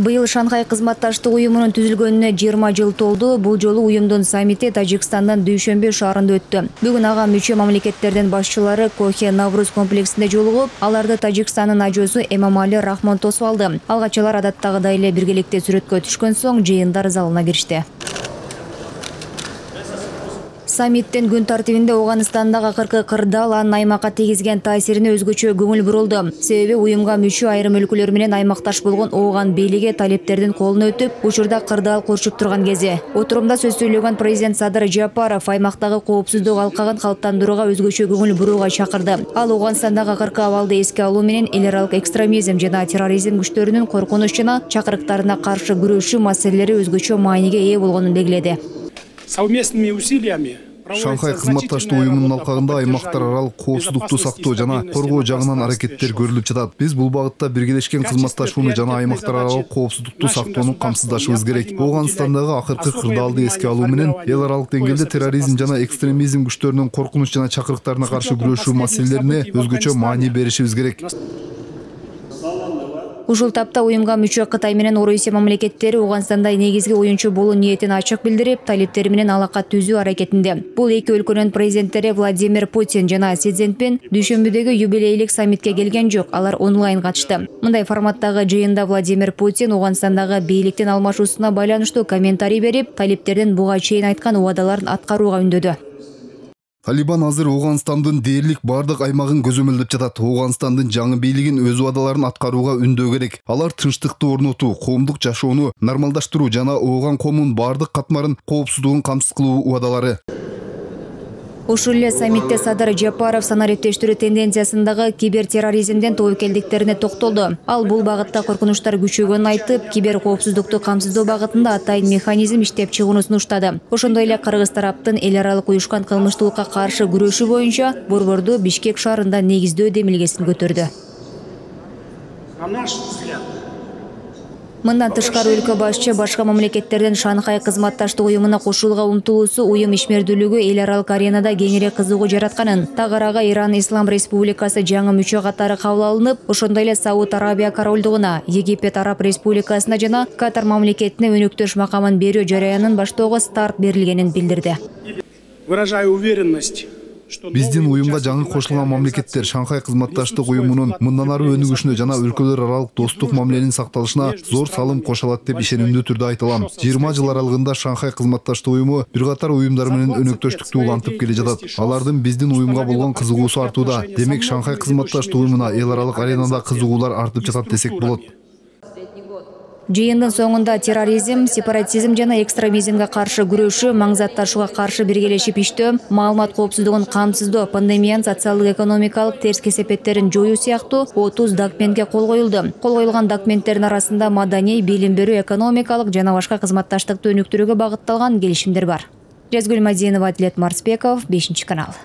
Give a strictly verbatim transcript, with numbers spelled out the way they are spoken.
Быйыл Шанхай кызматташтык уюмунун түзүлгөнүнө жыйырма жыл толду. Бул жолу уюмдун саммити Тажикстандын Дүйшөмбү шаарында өттү. Бүгүн ага мүчө мамлекеттердин башчылары Кохе Навруз комплексинде жолугуп, аларды Тажикстандын ажоосу Эмомали Рахмон тосуп алды. Алгачалар адаттагыдай эле биргеликте сүрөткө түшкөн соң жыйындар залына киришти. Саммиттин күн тартибинде Ооганстандагы акыркы кырдаал анын аймакка тийгизген таасирине өзгөчө көңүл бурулду. Себеби уюмга мүчө айрым өлкөлөр менен аймакташ болгон Ооган бийлиги талептердин колуна өтүп, учурда кырдаал курчуп турган кези. Отурумда сөз сүйлөгөн президент Садыр Жапаров аймактагы коопсуздук алкагын калыптандырууга өзгөчө көңүл бурууга чакырды. Ал Ооганстандагы акыркы абалды эске алуу менен эл аралык экстремизм жана терроризм күчтөрүнүн коркунуч жана чакырыктарына каршы күрөшүү маселелери өзгөчө мааниге ээ болгонун белгиледи. Совместными усилиями Шанхай кызматташтык уюмунун алкагында аймактар аралык коопсуздукту сактоо жана коргоо жагынан аракеттер көрүлүп жатат. Биз бул багытта биргелешкен кызматташууну жана аймактар аралык коопсуздукту сактоону камсыздашыбыз керек. Ооганстандагы акыркы кырдаалды эске алуу менен эл аралык деңгээлде терроризм жана экстремизм күчтөрүнүн коркунуч жана чакырыктарына каршы күрөшүү маселелерине өзгөчө маани беришибиз керек. Ушул тапта уюмга мүчө Кытай менен Орусия мамлекеттери Ооганстанда негизги оюнчу болуу ниетин ачык билдирип, талептери менен алака түзүү аракетинде. Бул эки өлкөнүн президенттери Владимир Путин жана Си Цзиньпин Дүйшөмбүдөгү юбилейлик саммитке келген жок, алар онлайн катышты. Мындай форматтагы жыйында Владимир Путин Ооганстандагы бийликтин алмашуусуна байланыштуу комментарий берип, талептердин буга чейин айткан убадаларын аткарууга үндөдү. Талибан азыр Ооганстандын дээрлик бардык аймагын көзөмөлдөп жатат. Ооганстандын жаңы бийлигин өз убадаларын аткарууга үндөө керек. Алар тынчтыкты орнотуу, коомдук жашоону нормалдаштыруу жана Ооган коомунун бардык катмарын коопсуздугун камсыз кылуу убадалары. Ушул эле саммитте Садыр Жапаров санариптештирүү тенденциясындагы кибертерроризмден тобокелдиктерине токтолду. Ал бул багытта коркунучтар күчөгөнүн айтып, кибер коопсуздукту камсыздоо багытында атайын механизм иштеп чыгууну сунуштады. Ошондой эле кыргыз тараптын эл аралык уюшкан кылмыштуулукка каршы күрөшүү боюнча борборду Бишкек шаарында негиздөө демилгесин көтөрдү. Мындан тышкары өлкө башчы башка мамлекеттерден Шанхай кызматташтык уюмуна кошулууга умтулуусу уюм ишмердүүлүгү эл аралык аренада кеңирээк кызыгуу жаратканын, тагыраагы Иран Ислам Республикасы жаңы мүчө катары кабыл алынып, ошондой эле Сауд Арабия королдугуна, Египет Араб Республикасына жана Катар мамлекетине өнөктөш макамын берүү жараянын баштоого старт берилгенин билдирди. Выражаю уверенность. Биздин уюмга жаңы кошулган мамлекеттер Шанхай кызматташтык уюмунун мындан ары өнүгүшүнө жана өлкөлөр аралык достук мамиленин сакталышына зор салым кошо алат деп ишенимдүү түрдө айта алам. жыйырма жыл аралыгында Шанхай кызматташтык уюму бир катар уюмдар менен өнөктөштүктү улантып келе жатат. Алардын биздин уюмга болгон кызыгуусу артууда. Демек Шанхай кызматташтык уюмуна эл аралык аренада кызыгуулар артып жатат десек болот. Жыйындын соңунда терроризм, сепаратизм жана экстремизмге каршы күрөшүү, маңзатташууга каршы биргелешип иштөө, маалымат коопсуздугун камсыздоо, пандемиянын социалдык экономикалык терс кесепеттерин жоюу сыяктуу отуз документке кол коюлду. Кол коюлган документтердин арасында маданий, билим берүү, экономикалык жана башка кызматташтыкты өнүктүрүүгө багытталган келишимдер бар. Жазгүл Мадинова, Атлет Марсбеков, бешинчи канал.